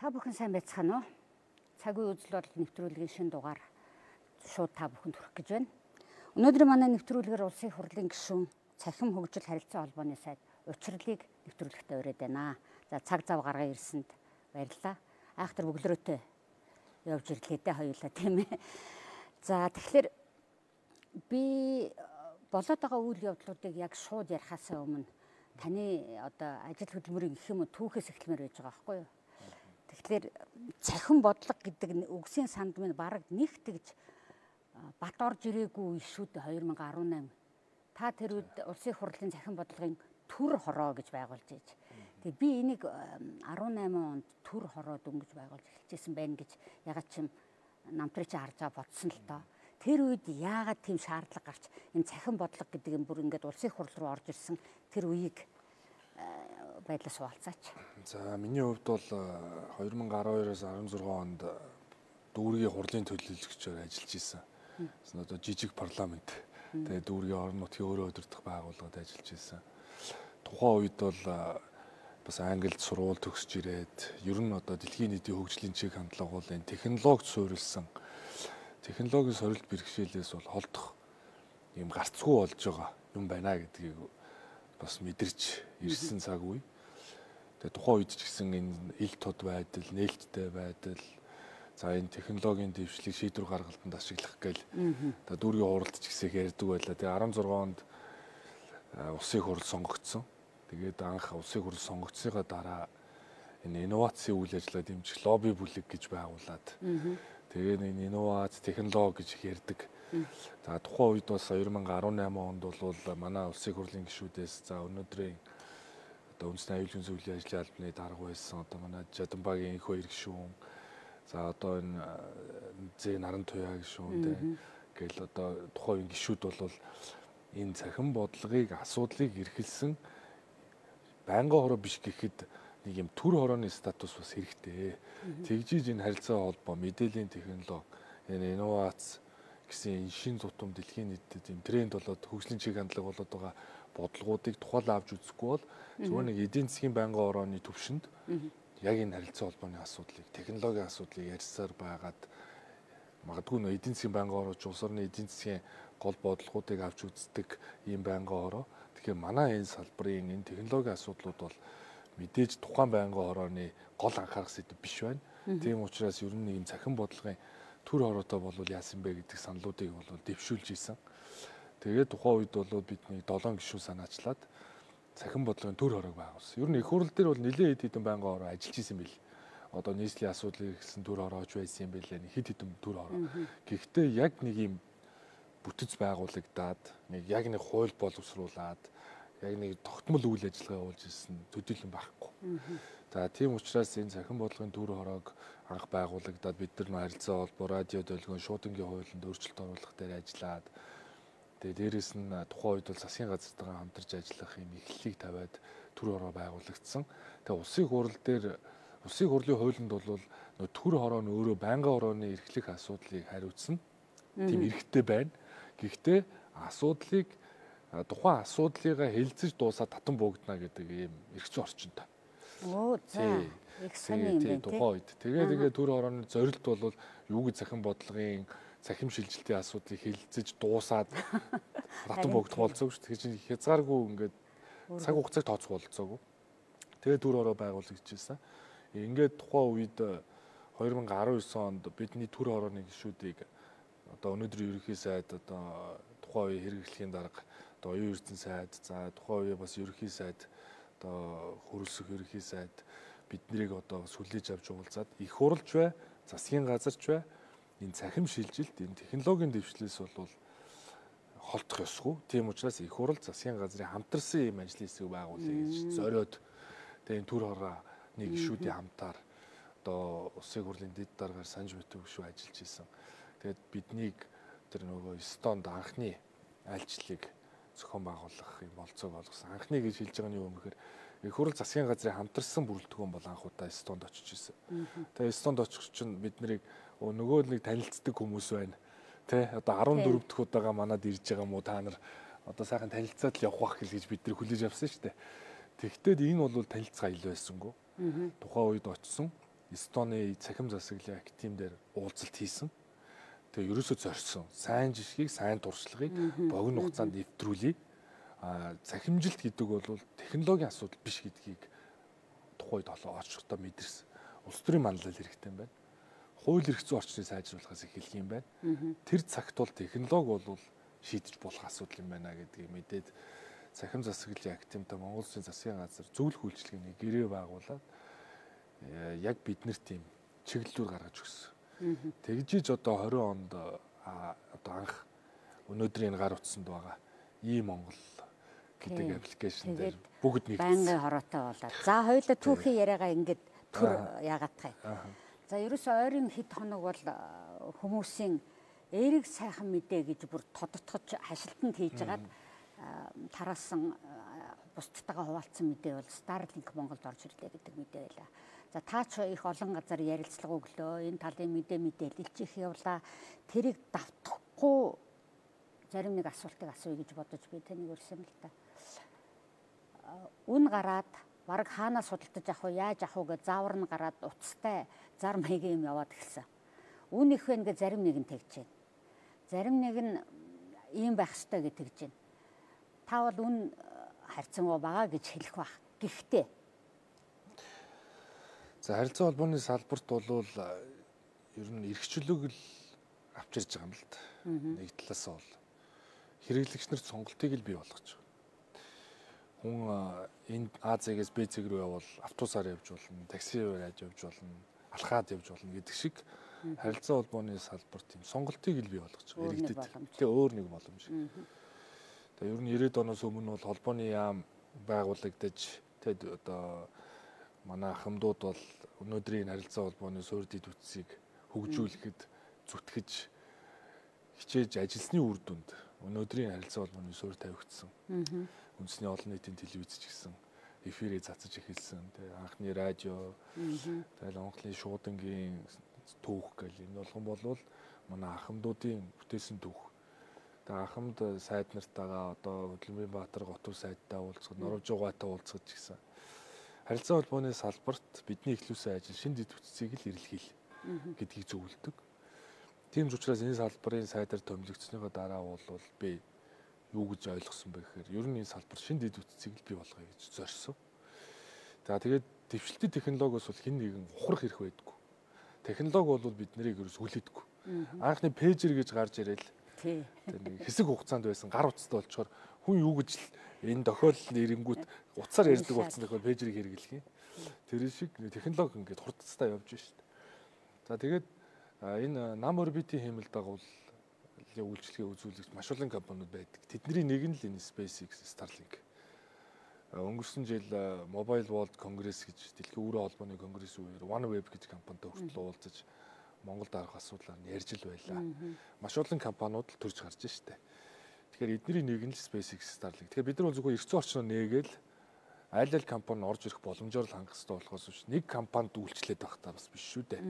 Та бүхэн сайн байцгаана уу? Цагийн үзэл бодол нэвтрүүлгийн шинэ дугаар шууд та бүхэнд хүрэх гэж байна. Өнөөдөр манай нэвтрүүлгээр улсын их хурлын гишүүн Цахим хөгжил харилцаа холбооны сайд учрлыг нэвтрүүлэхдээ ураад байна. За цаг зав гаргаа ирсэнд баярлалаа. Айхтар бөглөрөөтэй явж ирлээ дээ хоёулаа тийм ээ. За тэгэхээр би болоод байгаа үйл явдлуудыг яг шууд ярихаас өмнө таны одоо ажил хөдөлмөрийн гэх юм уу түүхээс эхлэмээр байж байгаа байхгүй юу? Тэгэхээр цахим бодлого гэдэг үгсийн санд минь бараг нэг тэгж бат орж ирээгүй шүү дээ 2018. Та тэр үед улсын их хурлын цахим бодлогын төр хороо гэж байгуулж ийж. Тэгээ би энийг 18 онд төр хороо дөнгөж байгуулж эхэлжсэн байна гэж ягаад ч юм намтрыг чи харж байгаа бодсон л доо. Тэр үед яагаад тийм шаардлага гарч энэ цахим бодлого гэдэг юм бүр ингээд улсын их хурл руу орж ирсэн тэр үеийг байдлаас хуваалцаач. За миний хувьд бол 2012-оос 16 онд дүүргийн хурлын төлөөлөгчөөр ажиллаж исэн. Одоо жижиг парламент. Тэгээ дүүргийн орон нутгийн өөрөө өдөртөх байгууллагад ажиллаж исэн. Тухайн үед бол бас Англид сургууль төгсөж ирээд ер нь одоо дэлхийн нийтийн хөгжлийн чиг хандлага бол энэ технологид суурилсан технологийн сорилт бэрхшээлээс бол холдох юм гарцгүй болж байгаа юм байна гэдгийг бас мэдэрч ирсэн цаг үе. Тэгээ тухайн үед ч гэсэн энэ ил тод байдал, нээлттэй байдал, за энэ технологийн дэвшлиг шийдвэр гаргалтанд ашиглах гээл одоо дүүргийн хуралд ч гэсэн их ярьдаг байлаа. Тэгээ 16 онд улсын их хурл сонгогдсон. Тэгээд анх улсын их хурл сонгогдсныхаа дараа энэ инновацийн үйл ажиллагаа дэмжих лобби бүлэг гэж байгуулад тэгээд энэ инновац технологи гэж их ярьдаг. За тухайн үед бас 2018 онд бол манай улсын их хурлын гишүүдээс за өнөөдрийн одоо үндэсний аюулгүй зөвлөлийн ажлын албаны дарга байсан одоо манай Жаданбагийн их хоёр гишүүн за одоо энэ Зэ Наран Туяа гишүүн тэгэл одоо тухайн гишүүд бол энэ цахим бодлогыг асуудлыг эрхэлсэн байнгын хороо биш гэхэд нэг юм төр хорооны статус бас хэрэгтэй. Тэгжиж энэ харилцаа холбоо мэдээллийн технологи энэ инновац гэсэн шин зутам дэлхийн нийтэд юм тренд болоод хөгжлийн чиг хандлага болоод байгаа бодлогоодыг тухайлан авч үзэхгүй бол зөвхөн нэг эдийн засгийн байнгын хорооны төвшөнд яг энэ харилцаа холбооны асуудлыг технологийн асуудлыг ярьсаар байгаад магадгүй нөө эдийн засгийн байнгын хороо улс орны эдийн засгийн гол бодлогоодыг авч үздэг ийм байнгын хороо. Тэгэхээр манай энэ салбарын энэ технологийн асуудлууд бол мэдээж тухайн байнгын хорооны гол анхаарах сэдэв биш байна. Тийм учраас ер нь ийм цахим бодлогын төр хороотой болвол яасан бэ гэдэг саналуудыг бол дэвшүүлж ийсэн. Тэгээд тухайн үед бол бидний 7 гишүүн санаачлаад цахим бодлогын төр хороог байгуулсан. Ер нь их хурл дээр бол нэлээд хэд хэдэн байнгын хороо ажиллаж исэн бэл. Одоо нийслэлийн асуудлыг гэсэн төр хороож байсан юм бэлээ. Хэд хэдэн төр хороо. Гэхдээ яг нэг юм бүтэц байгуулагдаад нэг яг нэг хууль боловсруулад яг нэг тогтмол үйл ажиллагаа явуулж ирсэн төдийлөн байхгүй. За тийм учраас энэ цахим бодлогын төр хороог анх байгуулагдаад бид нар харилцаа холбоо радио долгион шуудангийн хуулинд өөрчлөлт оруулах дээр ажиллаад тэгээ дээрэс нь тухайн үед бол засгийн газартайгаа хамтарч ажиллах юм эхлэлийг тавиад төр хороо байгуулагдсан. Тэгээ улсын хурал дээр улсын хурлын хуулинд бол төр хороо нь өөрөө байнгын хорооны эрхлэх асуудлыг хариуцсан. Тийм эрхтэй байна. Гэхдээ асуудлыг тухайн асуудлыгаа хэлцэж дуусаад татан буугдана гэдэг ийм эрх зүйн орчинтой. Оо за. Их сайн юм байна. Тухайн үед. Тэгээ төр хорооны зорилт бол юу гэж цахим бодлогын цахим шилжилтийн асуудлыг хэлцэж дуусаад татан буугдах болцоогүй шүү. Тэгэхээр чинь хязгааргүй ингээд цаг хугацааг тооцох болцоогүй. Тэгээ төр хороо байгуулагдчихсан. Ингээд тухайн үед 2019 онд бидний төр хорооны гишүүдийг одоо өнөөдрийн ерөнхий сайд одоо тухайн үеийн хэрэглэхийн дарга одоо оюун эрдэнэ сайд за тухайн үеийн бас ерөнхий сайд одоо хөрөлсөх ерөнхий сайд биднийг одоо сүлээж авч уулзаад их хурлч бай засгийн газарч бай энэ цахим шилжилт энэ технологийн дэвшлээс бол холдох ёсгүй. Тийм учраас их хурл засгийн газрын хамтарсан ийм ажлын хэсэг байгуулъя гэж зориод тэгээ энэ төр хорооны гишүүдийн хамтаар одоо улсын хурлын дэд даргаар санж битүү гишүү ажиллаж исэн. Тэгээд биднийг тэр нөгөө Эстонд анхны айлчлалыг зохион байгуулах юм болцоог олгосон. Анхны гэж хэлж байгаа нь юу юм гэхээр их хурл засгийн газрын хамтарсан бүрэлдэхүүн бол анх удаа Эстонд очиж исэн. Тэгээд Эстонд очих чинь бид нарыг нөгөө нэг танилцдаг хүмүүс байна. Тэ одоо 14 дахь удаага манад ирж байгаа мó та нар одоо сайхан танилцаад л явах бах гэж бид нар хүлээж авсан шүү дээ. Тэгвэл энэ бол танилцгаа ил байсангүй. Тухайн үед очсон Эстоны цахим засаглалын актив дээр уулзалт хийсэн. Тэгээ ерөөсөө зорьсон. Сайн жишгийг, сайн туршлагыг богино хугацаанд нэвтрүүлье. Цахимжилт гэдэг бол технологийн асуудал биш гэдгийг тухайд очрохтой мэдэрсэн. Улс төрийн манлал хэрэгтэй юм байна. Хууль эрх зүйн орчныг сайжруулахаас эхэлх юм байна. Тэр цагт бол технологи бол шийдэж болох асуудал юм байна гэдгийг мэдээд цахим засаглалын активтай Монгол Улсын засгийн газар зөвлөх үйлчилгээний гэрээ байгуулад яг биднэр тийм чиглэлүүд гаргаж өгсөн. Тэгжиж одоо 20 онд одоо анх өнөөдрийн гар утсанд байгаа Монгол гэдэг аппликейшн дээр бүгд нэгдсэн. Байнгын хороотой болоод. За хоёулаа түүхийн яриагаа ингээд төр яагаадах юм. За ерөөсөө ойрын хэд хоног бол хүмүүсийн эерэг сайхан мэдээ гэж бүр тодотгож хашилтанд хийж агаад тараасан бусдтайгаа хуваалцсан мэдээ бол Starlink Монголд орж ирлээ гэдэг мэдээ байлаа. За та ч их олон газар ярилцлага өглөө. Энэ талын мэдээлэлж их явлаа. Тэрийг давтахгүй зарим нэг асуултыг асууя гэж бодож би таныг өрсөн л та. Үн гараад бараг хаанаас судалдаж авах вэ, яаж авах вэ гэж заавар нь гараад уцтай зар маягийн юм яваад эхэлсэн. Үн их вэ гэж зарим нэг нь тэгж байна. Зарим нэг нь ийм байх ёстой гэж тэгж байна. Та бол үн харьцангуй бага гэж хэлэх бах. Гэхдээ за харилцаа холбооны салбарт бол ер нь эрхчлөлөг л авчирж байгаа юм л да. Нэг талаас бол хэрэглэгч нарт сонголтыг л бий болгож байгаа. Хүн энэ А зэгээс Б зэг рүү явбал автобусаар явж болно, таксигаар явж болно, алхаад явж болно гэдэг шиг харилцаа холбооны салбарт тийм сонголтыг л бий болгож байгаа. Иргэдэд тэгээ өөр нэг боломж. Тэгээ ер нь 90-ад оноос өмнө бол холбооны яам байгуулагдаж тэгээд одоо манай ахмадууд бол өнөөдрийн харилцаа холбооны суурь дэд үтсийг хөгжүүлэхэд зүтгэж хичээж ажилласны үр дүнд өнөөдрийн харилцаа холбооны суурь тавигдсан. Үндэсний олон нийтийн телевиз ч гэсэн эфирээ цацаж эхэлсэн. Тэгээ анхны радио, тэгээ Монголын шуудангийн түүх гэл энэ болгон болвол манай ахмадуудын бүтээсэн түүх. Тэгээ ахмад сайд нартайгаа одоо Хөдөлмөрийн Баатар готов сайдтай уулзах, Норвежгаатай уулзах гэсэн. Харилцаа холбооны салбарт бидний эхлүүлсэн ажил шин дэд үтцийг л ирэлхийл гэдгийг зөвлөдөг. Тийм ч учраас энэ салбарын сайдаар томилогдсныхоо дараа бол би юу гэж ойлгосон бэ гэхээр ер нь энэ салбар шин дэд үтцийг л бий болгоё гэж зорьсон. За тэгээд дэвшилтийн технологиос бол хэн нэгэн ухрах хэрэг байдаггүй. Технологи бол бид нарыг ерөөс хүлээдэггүй. Анхны пэйжер гэж гарч ирэл нэг хэсэг хугацаанд байсан гар утастай болчоор хүн юу гэж л энэ тохиолдол нэрэнгүүт утсаар ярьдаг болсон тохиол пэйжерийг хэрэглэх юм. Тэр шиг технологи ингээд хурдцтай явж байна шүү дээ. За тэгээд энэ нам орбитийн хэмнэлд дагуул үйлчлэгээ үзүүлэгч маш олон компаниуд байдаг. Тэдний нэг нь л энэ SpaceX, Starlink. Өнгөрсөн жил Mobile World Congress гэж дэлхийн өрөө холбооны конгресс үеэр OneWeb гэж компанитай хүртэл уулзаж Монголд арах асуудлаар ярьж л байлаа. Маш олон компаниуд л төрж гарч штэ. Тэгэхээр эдний нэг нь л SpaceX, Starlink. Тэгэхээр бид нар бол зөвхөн эрх зүйн орчноо нээгээл аль компани орж ирэх боломжоор л хангах хэрэгтэй болохоос биш нэг компанид үйлчлээд байх та бас биш шүү дээ.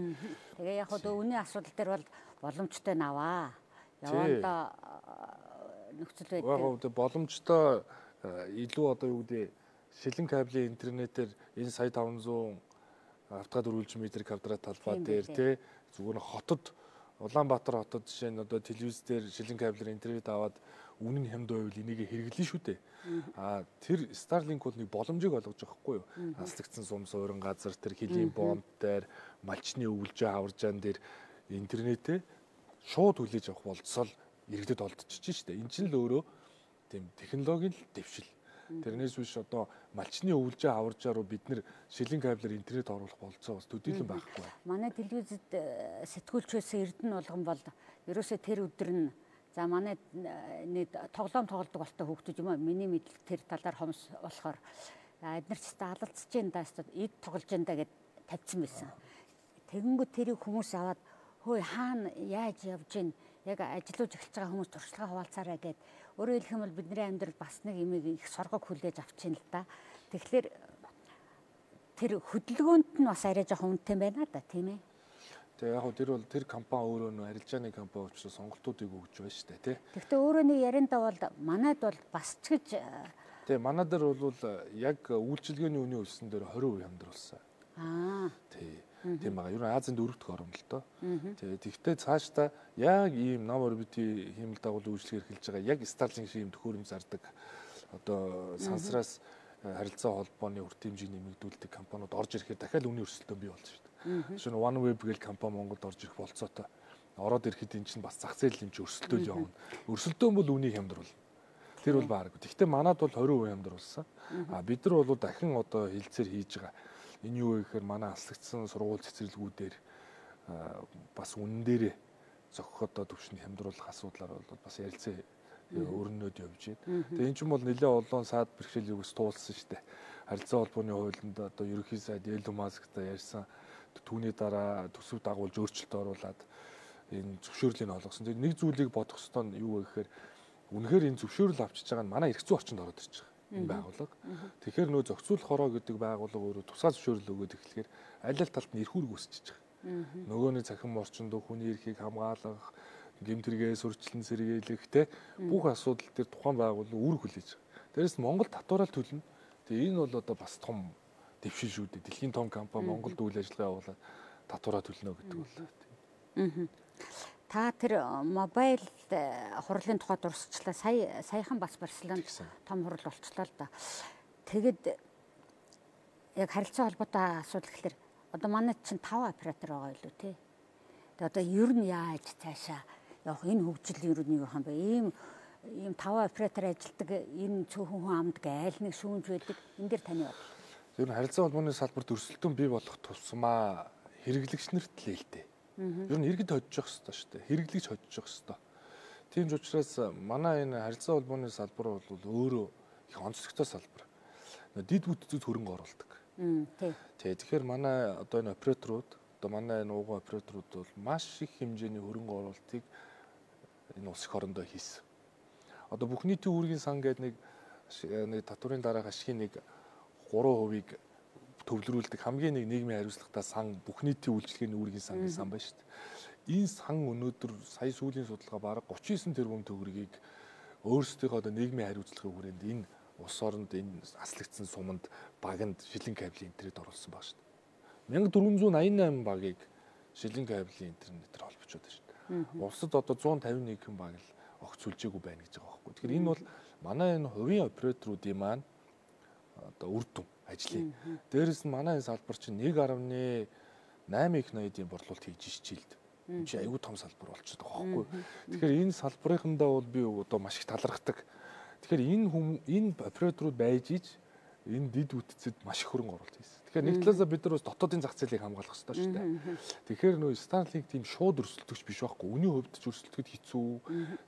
Тэгээ яг хөө үүний асуудал дээр бол боломжтой наваа. Яванда нөхцөл байдал боломжтой илүү одоо юу гэдэг шилэн кабелийн интернетээр энэ сая 500 автогад үргэлж метр квадрат талбай дээр тий зүгээр хотод Улаанбаатар хотод жишээ нь одоо телевиз дээр шилэн кабелээр интернет аваад үнэн хямд байвал энийг хэрэглэн шүү дээ. Тэр Starlink бол нэг боломжийг олгож байгаа хгүй юу? Хаслагдсан сум суурин газар тэр хилийн бомб дээр малчны өвлжөө хаваржаан дээр интернетээ шууд хүлээж авах болцол иргэдэд олдчихж штэ. Энд чинь л өөрөө тийм технологийн дэвшил. Тэрнээс биш одоо малчны өвлжөө хаваржаа руу бид нэр шилэн кабелээр интернет оруулах болцоо бас төдийлөн байхгүй. Манай телевизэд сэтгүүлч байсан Эрдэнэ болгон бол ерөөсөө тэр өдөр нь за манай нэг тоглоом тоглодог болтой хүүхдүүд юм аа. Миний мэдл тэр талаар хомс болохоор эднэр ч та алалцж जैन даа эд тоглож जैन даа гэд тавьсан байсан. Тэгэнгүүт тэрийг хүмүүс аваад хөөе хаана яаж явж гин яг ажиллаж эхэлж байгаа хүмүүс туршлагаа хуваалцаарай гэд өөрөөр хэлэх юм бол бидний амьдрал бас нэг имийг их соргог хүлээж авчихин л да. Тэгэхээр тэр хөдөлгөөнд нь бас арай жоохон үнэтэй байна да тийм ээ. Тэгээ яг тэр бол тэр компани өөрөө нөө арилжааны компани учраас сонголтуудыг өгж байна шүү дээ тий. Гэхдээ өөрөө нэг ярианда бол манайд бол бас ч гэж тий манайд бол яг үйлчилгээний үнийн өссөн дээр 20% хямдруулсан. Аа. Тий. тийм байгаа. Ер нь Азийн дөрөвдөх орн л доо. Тэгэхдээ цаашдаа яг ийм ном орбитийн хиймэл дагуулын үйлчлэг эрхэлж байгаа яг Starlink шиг ийм төхөөрөмж зардаг одоо сансраас харилцаа холбооны үр хэмжээ нэмэгдүүлдэг компаниуд орж ирэхээр дахиад үнийн өрсөлдөөн бий болж байна. Жишээ нь OneWeb гэх компани Монголд орж ирэх болцоотой. Ороод ирэхэд эн чинь бас зах зээл юм чи өрсөлдөөл явна. Өрсөлдөөн бол үнийг хямдруулна. Тэр бол бааргүй. Тэгэхдээ манад бол 20% хямдруулсан. Бид нар бол дахин одоо хилцээр хийж байгаа. Энэ юу вэ гэхээр манай аслагдсан сургууль цэцэрлэгүүдээр бас үнэн дээрээ зохих одоо төвшин хямдруулах асуудлаар бол бас ярилцээ өрнөд явж байна. Тэгээ эн чинь бол нэлээд олон саад бэрхшээл югс туулсан шүү дээ. Харилцаа холбооны хуулинд одоо ерөнхий сайд Elon Musk-тай ярьсан түүний дараа төсөв дагуулж өөрчлөлт оруулад энэ зөвшөөрлийг олгосон. Тэгээ нэг зүйлийг бодох ёстой нь юу вэ гэхээр үнэхээр энэ зөвшөөрөл авчиж байгаа нь манай эрх зүйн орчинд ороод ирж байгаа энэ байгууллага. Тэгэхээр нөө зохицуулах хороо гэдэг байгууллага өөрөө тусгай зөвшөөрөл өгөөд эхлэхээр аль аль талд нь эрх үүрэг үүсчихэж байгаа. Нөгөөний цахим орчинд хүний эрхийг хамгаалах, гэмт хэрэгээс өрчлөн сэргийлэх те бүх асуудал дээр тухайн байгууллага үүрэг хүлээж байгаа. Дээрээс нь Монгол татвараа төлнө. Тэгээ энэ бол одоо бас том дэвшил шүү дээ. Дэлхийн том компани Монголд үйл ажиллагаа явуулаад татвараа төлнө гэдэг бол. Та тэр мобайл хурлын тухай дурсчлаа саяхан бас Барселонд том хурал болчлоо л да. Тэгэд яг харилцаа холбоотой асуудал гэхэлэр одоо манай чинь 5 оператор байгаа илүү тий. Тэгээ одоо ер нь яаж цаашаа явах энэ хөгжил ер нь юу юм бэ? Ийм 5 оператор ажилтдаг энэ цөөхөн хүн амдаг айл нэг шүүмж байдаг. Энэ дээр таны бодлоо. Ер нь харилцаа холбооны салбарт өрсөлдөөн бий болох тусмаа хэрэглэгч нарт л ээлтэй. Ер нь иргэд ходжих хэрэгтэй шүү дээ. Хэрэглэгч ходжих хэрэгтэй. Тийм ч учраас манай энэ харилцаа холбооны салбар бол өөрөө их онцлогтой салбар. Дид бүтцүүд хөрөнгө оруулдаг. Тэгэхээр манай одоо энэ операторууд, одоо манай энэ ууган операторууд бол маш их хэмжээний хөрөнгө оруулалтыг энэ улс их орондоо хийсэн. Одоо бүх нийтийн үүргийн сан гэдэг нэг татварын дараах ашигын нэг 3% төвлөрүүлдэг хамгийн нэг нийгмийн хариуцлагатай сан бүх нийтийн үйлчлэгээний үүргийн сан гэсэн сан байна шүү дээ. Энэ сан өнөөдөр сая сүүлийн судалгаа бараг 39 тэрбум төгрөгийг өөрсдийнхөө одоо нийгмийн хариуцлагын хүрээнд энэ улс оронд энэ аслагдсан суманд баганд шилэн кабелийн интернет оруулсан баг шүү дээ. 1488 багийг шилэн кабелийн интернетээр холбочод байна шүү дээ. Улсад одоо 151 хэн баг л огц сүлжээгүй байна гэж байгаа байхгүй. Тэгэхээр энэ бол манай энэ хувийн операторуудын маань одоо үр дүн ажлын. Дээрээс нь манай энэ салбар чинь 1.8 их ноёдын борлуулалт хийж ижил. Энэ чинь аюул том салбар болчиход байгаа байхгүй. Тэгэхээр энэ салбарынхандаа бол би одоо маш их талархдаг. Тэгэхээр энэ операторууд байж иж энэ дид үтцэд маш их хөрөнгө оруулалт хийсэн. Тэгэхээр нэг талаасаа бид нар бас дотоодын зах зээлийг хамгаалах хэрэгтэй шүү дээ. Тэгэхээр нөө Starlink тийм шууд өрсөлдөгч биш байхгүй. Үний хувьд ч өрсөлдөхөд хэцүү.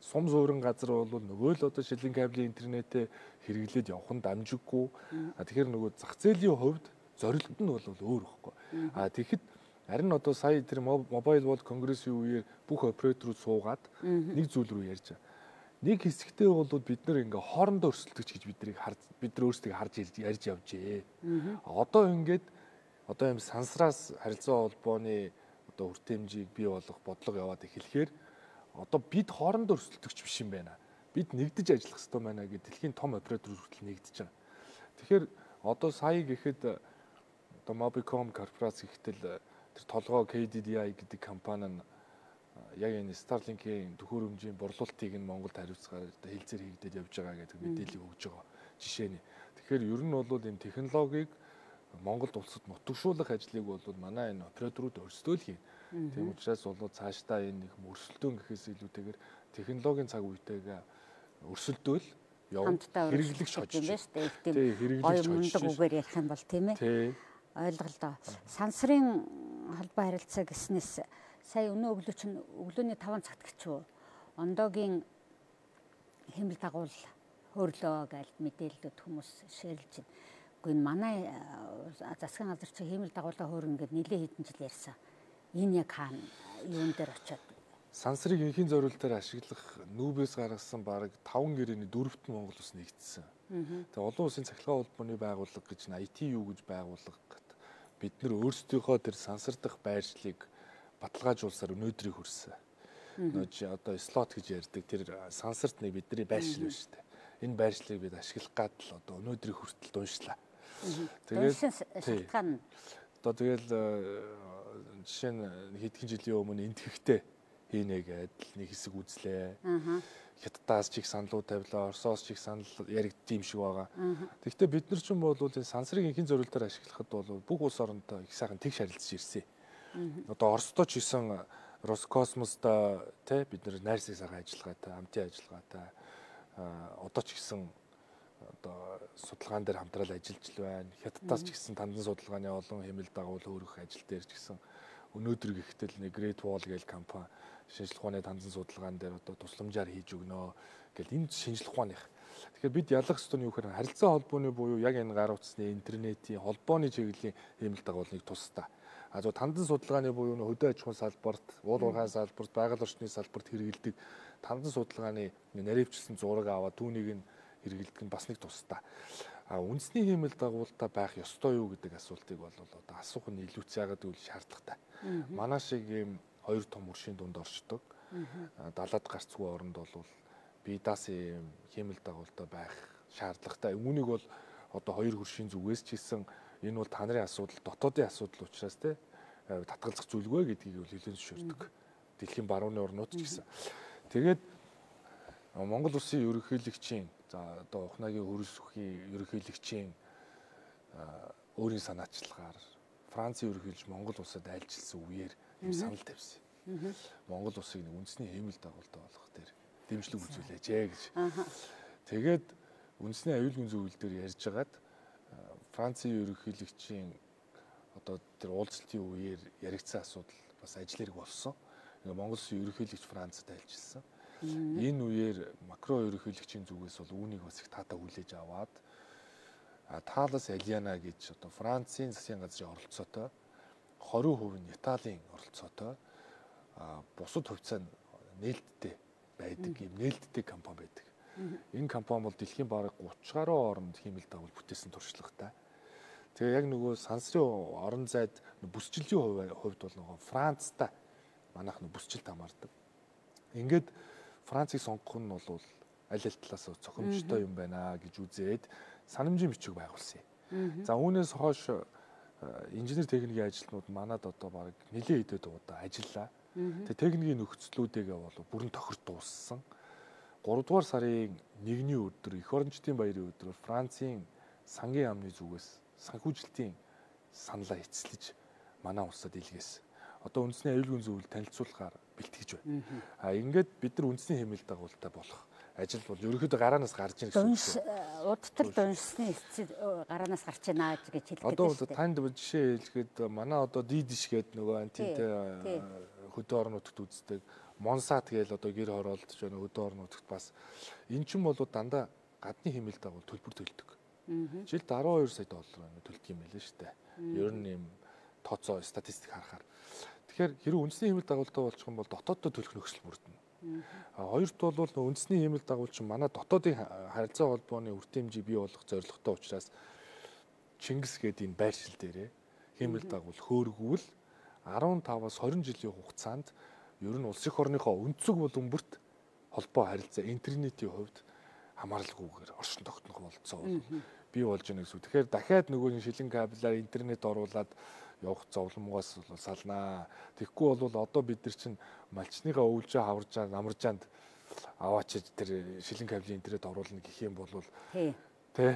Сум суурин газар бол нөгөө л одоо шилэн кабелийн интернетээ хэрэглээд явах нь дамжиггүй. Тэгэхээр нөгөө зах зээлийн хувьд зорилгод нь бол өөр байхгүй. Тэгэхэд харин одоо сая тэр Mobile World Congress-ийн үеэр бүх операторууд суугаад нэг зүйл рүү ярьж байгаа. Нэг хэсэгтээ бол бид нар ингээ хоорондоо өрсөлдөгч гэж бид нар өөрсдөө харж ярьж явжээ. Одоо ингээд одоо юм сансраас харилцаа холбооны одоо үр хэмжээг бий болгох бодлого яваад эхлэхээр одоо бид хоорондоо өрсөлдөгч биш юм байна. Бид нэгдэж ажиллах хэрэгтэй байна гэдэг дэлхийн том операторууд хүртэл нэгдэж байгаа. Тэгэхээр одоо сая гэхэд одоо Mobicom корпорац ихтэл тэр толгой KDDI гэдэг компани нь яг энэ Starlink-ийн төхөөрөмжийн борлуулалтыг нь Монголд хариуцгаар хэлцээр хийгдээд явж байгаа гэдэг мэдээлэл өгж байгаа жишээ нь. Тэгэхээр ер нь бол энэ технологиг Монголд улсад нутагшуулах ажлыг бол манай энэ операторууд өрсөлдөөл хийнэ. Тийм учраас бол цаашдаа энэ нэг өрсөлдөөн гэхээс илүүтэйгээр технологийн цаг үетэйгээ өрсөлдөөл хэрэглэгч хожиж юм байна шүү дээ. Тийм хоёрмундаг үгээр ярих юм бол тийм ээ. Ойлголоо. Сансрын холбоо харилцаа гэснээс сая өнөө өглөө чинь өглөөний 5 цагт гिचүү ондоогийн хэмэл дагуул хөөрлөө гэж мэдээлэлүүд хүмүүс шеэрлж байна. Гэхдээ манай засгийн газар чи хэмэл дагуулаа хөөрнө гэд нэлээ хэдэн жил ярьсан. Энэ яг хаана юун дээр очиод сансрыг инхийн зориулалтаар ашиглах нүүбээс гаргасан бараг 5 гэрээний 4-т Монгол ус нэгдсэн. Тэгээ олон улсын цахилгаан холбооны байгууллага гэж ITU гэж байгууллага бид нар өөрсдийнхөө тэр сансар дахь байршлыг баталгаажуулсаар өнөөдрийг хүрсэн. Нөө одоо слот гэж ярьдаг тэр сансарт нэг бидний байршил байна шүү дээ. Энэ байршлыг бид ашиглах гад л одоо өнөөдрийг хүртэл дуншлаа. Тэгээд шалтгаан одоо тэгэл жишээ нь хэдхэн жилийн өмнө энтхэгтэй хийнэ гэдэл нэг хэсэг үзлээ. Хятадаас ч их саналуу тавилаа, Оросоос ч их санал яригдсан юм шиг байгаа. Тэгэхдээ бид нар ч юм бол энэ сансрыг инхэн зорилтоор ашиглахад бол бүх улс орондоо их сайхан тэгш харилцаж ирсэн. Одоо Оростой ч гэсэн Роскосмостой тий бид нар найрсаг сайхан ажиллагаатай, хамтын ажиллагаатай одоо ч гэсэн одоо судалгаан дээр хамтрал ажиллаж л байна. Хятадаас ч гэсэн тандан судалгааны олон хэмэл дагуул хөөрөх ажил дээр ч гэсэн өнөөдөр гэхтэл нэг Great Wall гээл компани шинжлэх ухааны тандан судалгаан дээр одоо тусламжаар хийж өгнө гэл энэ шинжлэх ухааных. Тэгэхээр бид ялах ёстой нь юу гэхээр харилцаа холбооны буюу яг энэ гар утасны интернетийн холбооны чиглэлийн хэмэл дагуулыг тусдаа. А зөв тандан судалгааны буюу хөдөө аж ахуйн салбарт, уул уурхай салбарт, байгаль орчны салбарт хэрэгэлдэг тандан судалгааны наривчлсан зураг аваад түүнийг нь хэрэгэлдэг нь бас нэг тусдаа. А үндэсний хэмэл дагуултаа байх ёстой юу гэдэг асуултыг бол одоо асуух нь илүүц яагаад гэвэл шаардлагатай. Манай шиг ийм хоёр том өршийн дунд орчдог. Далаад гарцгүй оронд бол бие даасан ийм хэмэл дагуултаа байх шаардлагатай. Үүнийг бол одоо хоёр хөршийн зүгээс ч хийсэн энэ бол та нарын асуудал, дотоодын асуудал учраас те татгалзах зүйлгүй гэдгийг бол хэлэн зөвшөөрдөг. Дэлхийн барууны орнууд ч гэсэн. Тэгээд Монгол улсын ерөнхийлөгчийн за одоо ухнаагийн хөрс үхий ерөнхийлөгчийн өөрийн санаачлагаар Францын ерөнхийлөгч Монгол улсад айлчилсан үеэр юм санал тавьсан. Монгол улсыг нэг үндэсний хэмэл дагуултаа болгох дээр дэмжлэг үзүүлээч гэж. Тэгээд үндэсний аюулгүй зөвлөл дээр ярьж хагаад Францын ерөнхийлөгчийн одоо тэр уулзалтын үеэр яригдсан асуудал бас ажил хэрэг болсон. Ингээ Монгол улсын ерөнхийлөгч Францад айлчилсан. Энэ үеэр Макрон ерөнхийлөгчийн зүгээс бол үүнийг бас их таатаа хүлээж аваад Талас Алиана гэж одоо Францын засгийн газрын оролцоотой 20% нь Италийн оролцоотой бусад хувьцаа нээлттэй байдаг юм нээлттэй компани байдаг. Энэ компани бол дэлхийн бараг 30 гаруй оронд хэмэл дагуул бүтээсэн туршлагатай. Тэгээ яг нөгөө сансрын орон зайд бүсчилжийн хувьд бол нөгөө Францтай манайх бүсчилд хамаардаг. Ингээд Францыг сонгох нь бол аль аль талаас цохимжтой юм байна гэж үзээд санамжийн бичиг байгуулсан юм. За үүнээс хойш инженер техникийн ажилтнууд манад одоо баг нэлээд идэд удаа ажиллаа. Тэгээ техникийн нөхцлүүдээ бол бүрэн тохирч дууссан. 3 дугаар сарын 1-ний өдөр эх орончдын баярын өдрөөр Францын сангийн яамны зүгээс санхүүжилтийн саналаа эцэслэж манай улсад илгээсэн. Одоо үндэсний аюулгүй зөвлөлд танилцуулахаар бэлтгэж байна. Ингээд бид нар үндэсний хэмэл дагуултаа болох ажил бол ерөнхийдөө гараанаас гарч ирэх гэсэн үг. Удтал дуншсны эцэг гараанаас гарч ийна гэж хэлдэг. Одоо танд жишээ хэлэхэд манай одоо дидиш гэдэг нөгөө антинтэй хөдөө орнуудад үздэг Монсат гээл одоо гэр хороолдож байна хөдөө орнуудад бас эн чинь бол дандаа гадны хэмэл дагуул төлбөр төлдөг. Жилд 12 сая доллар төлдөг юм байлээ шүү дээ. Ер нь юм тооцоо статистик харахаар. Тэгэхээр хэрэв үндэсний хэмэл дагуултаа болчих юм бол дотооддоо төлөх нөхцөл бүрдэнэ. Хоёрт бол үндэсний хэмэл дагуулч манай дотоодын харилцаа холбооны үртэмжийг бий болгох зорилготой учраас Чингис гэдэг энэ байршил дээрээ хэмэл дагуул хөөргөвөл 15-аас 20 жилийн хугацаанд ер нь улс их орныхоо өнцөг буланбарт холбоо харилцаа интернетийн хувьд хамааралгүйгээр оршин тогтнох болцоо бий болж байна гэсэн үг. Тэгэхээр дахиад нөгөө шилэн кабелаар интернет оруулаад явах зовлонгоос салнаа. Тэгэхгүй бол одоо бид нар чинь малчныхаа өвлжөө хаваржаа намаржаанд аваачиж тэр шилэн кабелийн интернет оруулна гэх юм бол тий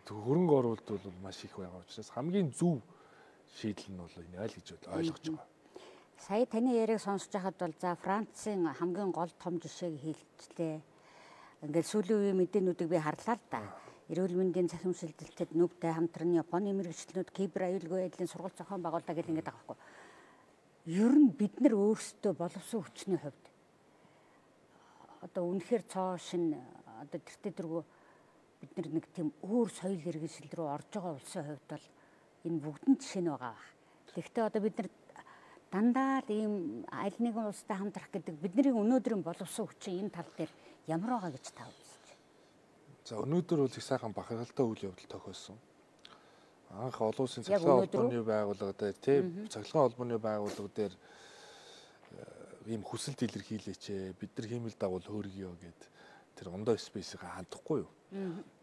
хөрөнгө оруулалт бол маш их байгаа учраас хамгийн зөв шийдэл нь бол энэ айл гэж ойлгож байгаа. Сая таны яриаг сонсож байхад бол за Францын хамгийн гол том жишээг хэлжлээ. Ингээд сүүлийн үеийн мэдээнүүдийг би харлаа л да. Эрүүл мэндийн цахим шилжилтэд нүбтэй хамтран Японы мэрэгчлэнүүд кибер аюулгүй байдлын сургалт зохион байгуулалт гэх ингээд байгаа байхгүй. Ер нь бид нар өөрсдөө боловсон хүчний хувьд одоо үнэхээр цоо шин одоо тэртээ дэргүү бид нар нэг тийм өөр соёл иргэншил рүү орж байгаа улсын хувьд бол энэ бүгдэн жишээ нь байгаа. Тэгэхдээ одоо бид нар дандаа л ийм аль нэгэн улстай хамтрах гэдэг бидний өнөөдрийн боловсон хүчин энэ тал дээр ямар байгаа гэж та үзэж байна? За өнөөдөр бол их сайхан бахархалтай үйл явдал тохиолсон. Анх олон улсын цахилгаан холбооны байгууллага дээр тийм цахилгаан холбооны байгууллага дээр ийм хүсэлт илэрхийлээч бид нар хиймэл дагуул хөөргийё гэд тэр ондоо спейсийг хандахгүй юу.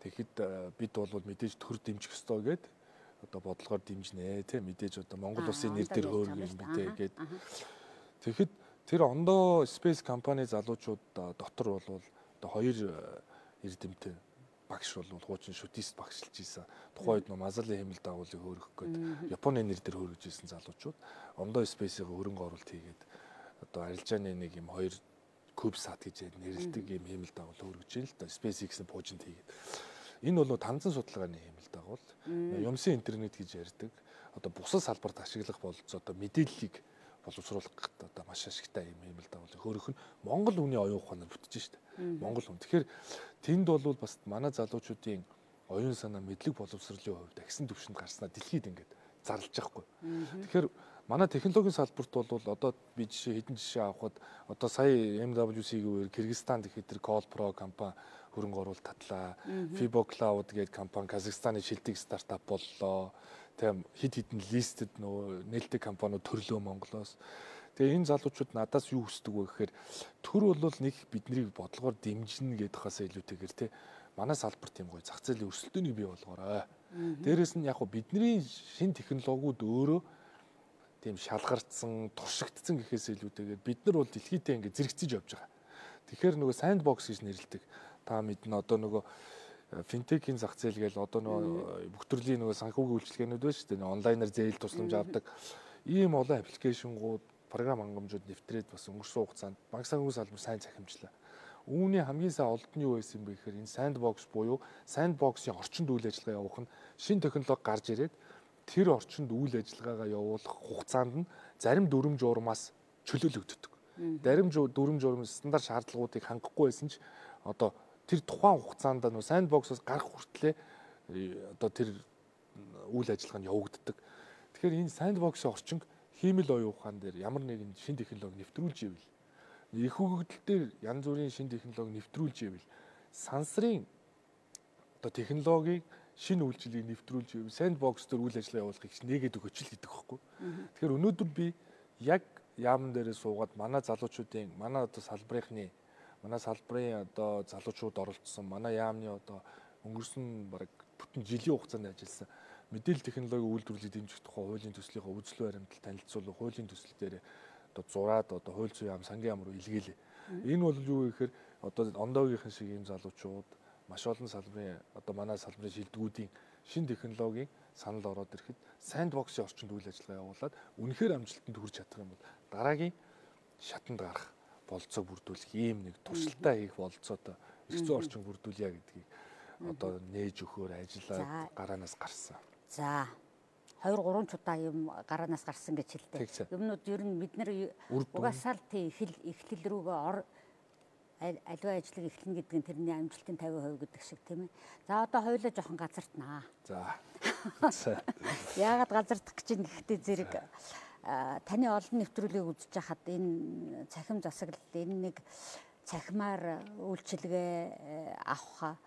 Тэгэхэд бид бол мэдээж төр дэмжих ёстой гэд одоо бодлогоор дэмжинэ тийм мэдээж одоо Монгол улсын нэр дээр хөөргөн мэдээ гээд тэгэхэд тэр ондоо Space компани залуучууд дотор бол одоо хоёр эрдэмтэн багш бол хуучин шүтист багшилж ийсэн. Тухайн үед Мазали хэмэл дагуулыг хөөргөх гээд Японы нэр дээр хөөргөж ийсэн залуучууд ондоо Space-ийн хөрөнгө оруулалт хийгээд одоо арилжааны нэг юм хоёр CubeSat гэж нэрлэдэг юм хэмэл дагуул хөөргөж ийн л да SpaceX-ийн пуужинд хийгээд. Энэ бол танзан судалгааны хэмэл дагуул. Юмсын интернет гэж ярьдаг. Одоо бусад салбарт ашиглах болцоо одоо мэдээллийг боловсруулах гэдэг одоо маш ашигтай юм хэмэл дагуул. Хөөрөх нь Монгол хүний оюун ухаанаар бүтэж штэ. Монгол хүн. Тэгэхээр тэнд бол бас манай залуучуудын оюун санаа мэдлэг боловсролын хувьд агсан түвшинд гарснаа дэлхийд ингээд зарлж байгаа хгүй. Тэгэхээр манай технологийн салбарт бол одоо би хэдэн жишээ авахад одоо сая MWC-ийн үеэр Кыргызстан гэхэд тэр Call Pro компани хөрөнгө оруулалт татлаа. Fibo Cloud гэдэг компани Казахстаны шилдэг стартап боллоо. Тэгм хид листед нөгөө нээлттэй компаниуд төрлөө Монголоос. Тэгээ энэ залуучууд надаас юу хүсдэг вэ гэхээр төр бол нэг биднийг бодлогоор дэмжинэ гэдэх хасаа илүүтэйгээр те манай салбар тийм гоё зах зээлийн өрсөлдөөнийг бий болгоорой. Дээрээс нь яг бидний шин технологиуд өөрөө тийм шалгартсан, туршигдсан гэхээс илүүтэйгээр бид нар бол дэлхийдээ ингэ зэрэгцэж явж байгаа. Тэгэхээр нөгөө sandbox гэж нэрлэдэг. Та мэднэ одоо нөгөө финтекийн зах зээл гээл одоо нөгөө бүх төрлийн нөгөө санхүүгийн үйлчилгээнүүд байна шүү дээ. Онлайнаар зээл тусламж авдаг. Ийм олон аппликейшнгууд, програм хангамжууд нэвтрээд бас өнгөрсөн хугацаанд банк санхүүгийн салбар сайн захимжлаа. Үүний хамгийн сайн олд нь юу байсан бэ гэхээр энэ sandbox буюу sandbox-ийн орчинд үйл ажиллагаа явуулах нь шинэ технологи гарч ирээд тэр орчинд үйл ажиллагаагаа явуулах хугацаанд нь зарим дүрм журмаас чөлөөлөгддөг. Зарим дүрм журмын стандарт шаардлагуудыг хангахгүй байсан ч одоо тэр тухайн хугацаанд нөө sandbox-оос гарах хүртлээр одоо тэр үйл ажиллагаа нь явагддаг. Тэгэхээр энэ sandbox-ийн орчинг хиймэл оюун ухаан дээр ямар нэгэн шинэ технологи нэвтрүүлж ивэл их хөгжил дээр янз бүрийн шинэ технологи нэвтрүүлж ивэл сансрын одоо технологиг шинэ үйлчлэгийг нэвтрүүлж ивэл sandbox дээр үйл ажиллагаа явуулахыг нэгээд өгөөч л гэдэг байхгүй. Тэгэхээр өнөөдөр би яг яамн дээрээ суугаад манай залуучуудын манай одоо салбарын одоо залуучууд оролцсон манай яамны одоо өнгөрсөн бараг бүтэн жилийн хугацаанд ажилласан мэдээлэл технологийн үйлдвэрлэлийг дэмжих тухай хуулийн төслийнхөө үзэл баримтал танилцуулах хуулийн төсөл дээр одоо зураад одоо хууль зүйн яам сангийн яам руу илгээлээ. Энэ бол юу гэхээр одоо ондоогийнхэн шиг ийм залуучууд маш олон салбарын одоо манай салбарын шилдэгүүдийн шинэ технологийн санал ороод ирэхэд sandbox-ийн орчинд үйл ажиллагаа явуулаад үнэхээр амжилтанд хүрч чадах юм бол дараагийн шатанд гарах болцоог бүрдүүлэх ийм нэг туршилтаа хийх болцоотой эрх зүйн орчин бүрдүүлье гэдгийг одоо нээж өгөхөөр ажиллаад гараанаас гарсан. За 2-3 удаа юм гараанаас гарсан гэж хэлдэг. Юмнууд ер нь бид нар угаасаа л тий эхлэл рүүгээ аливаа ажлыг эхлэн гэдэг нь тэрний амжилтын 50% гэдэг шиг тийм ээ. За одоо хоёулаа жоохон газартнаа. За. Яагаад газардах гэж юм гэхдээ зэрэг таны олон нэвтрүүлгийг үзэж хахад энэ цахим засаглал энэ нэг цахимаар үйлчилгээ авах